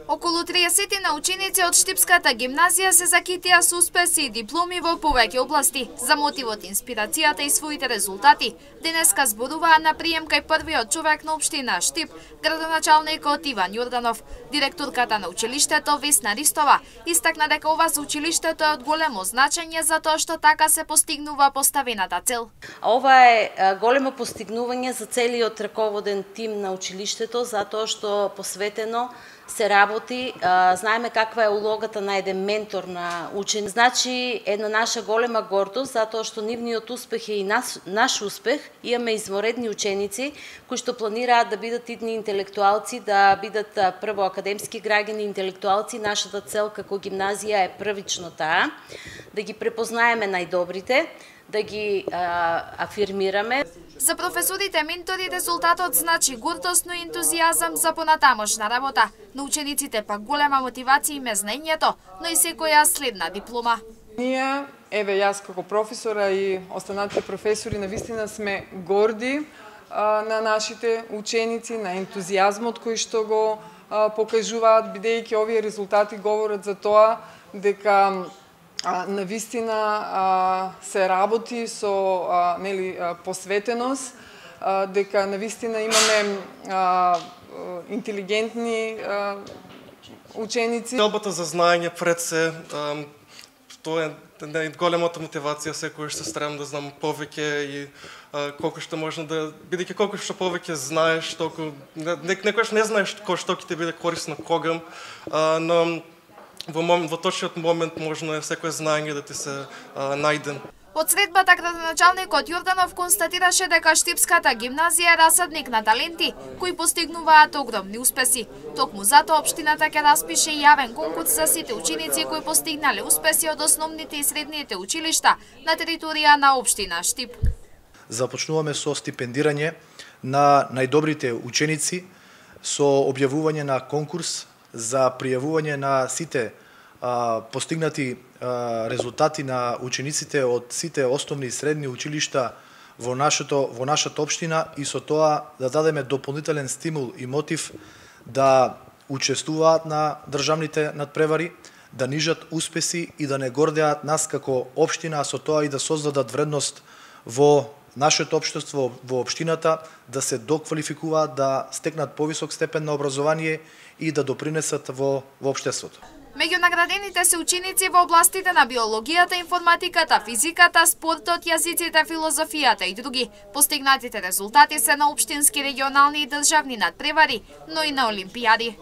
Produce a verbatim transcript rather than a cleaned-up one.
Околу триесет на ученици од Штипската гимназија се закитија со успеси и дипломи во повеќе области. За мотивот, инспирацијата и своите резултати, денеска зборуваа на прием кај првиот човек на општина Штип, градоначалникот Иван Јорданов. Директорката на училиштето Весна Ристова истакна дека ова за училиштето е од големо значење затоа што така се постигнува поставената цел. Ова е големо постигнување за целиот раководен тим на училиштето затоа што посветено се работи, знаеме каква е улогата на еден ментор на учен. Значи, една наша голема гордост, затоа што нивниот успех е и наш, наш успех. Имаме изморедни ученици кои што планираат да бидат идни интелектуалци, да бидат прво академски граѓани интелектуалци. Нашата цел како гимназија е првично таа, да ги препознаеме најдобрите, да ги а, афирмираме. За професорите ментори резултатот значи гордост, но и ентузијазам за понатамошна работа. На учениците пак голема мотивација им е знаењето, но и секоја следна диплома. Ние, еве јас како професора и останатите професори, навистина сме горди а, на нашите ученици, на ентузијазмот кој што го а, покажуваат, бидејќи овие резултати говорат за тоа дека А, навистина а, се работи со а, нели, а, посветеност, а, дека навистина имаме а, интелигентни а, ученици. Целбата за знаење пред се, а, тоа е големата мотивација, секојаш се старам да знам повеќе и а, колку што можно да, бидејќи колку што повеќе знаеш, толку некојаш не знаеш кој што ќе ти биде корисно когам, а, но Во, момент, во точниот момент можно е секој знаење да ти се а, најден. Од средбата градоначалникот Јорданов констатираше дека Штипската гимназија е расадник на таленти кои постигнуваат огромни успеси. Токму затоа општината ќе распише јавен конкурс за сите ученици кои постигнале успеси од основните и средните училишта на територија на општина Штип. Започнуваме со стипендирање на најдобрите ученици, со објавување на конкурс за пријавување на сите а, постигнати а, резултати на учениците од сите основни и средни училишта во нашето во нашата општина и со тоа да дадеме дополнителен стимул и мотив да учествуваат на државните надпревари, да нижат успеси и да не гордеат нас како општина, а со тоа и да создадат вредност во нашето општество, во општината, да се доквалификуваат, да стекнат повисок степен на образование и да допринесат во, во општеството. Меѓу наградените се ученици во областите на биологијата, информатиката, физиката, спортот, јазиците, филозофијата и други. Постигнатите резултати се на општински, регионални и државни надпревари, но и на олимпијади.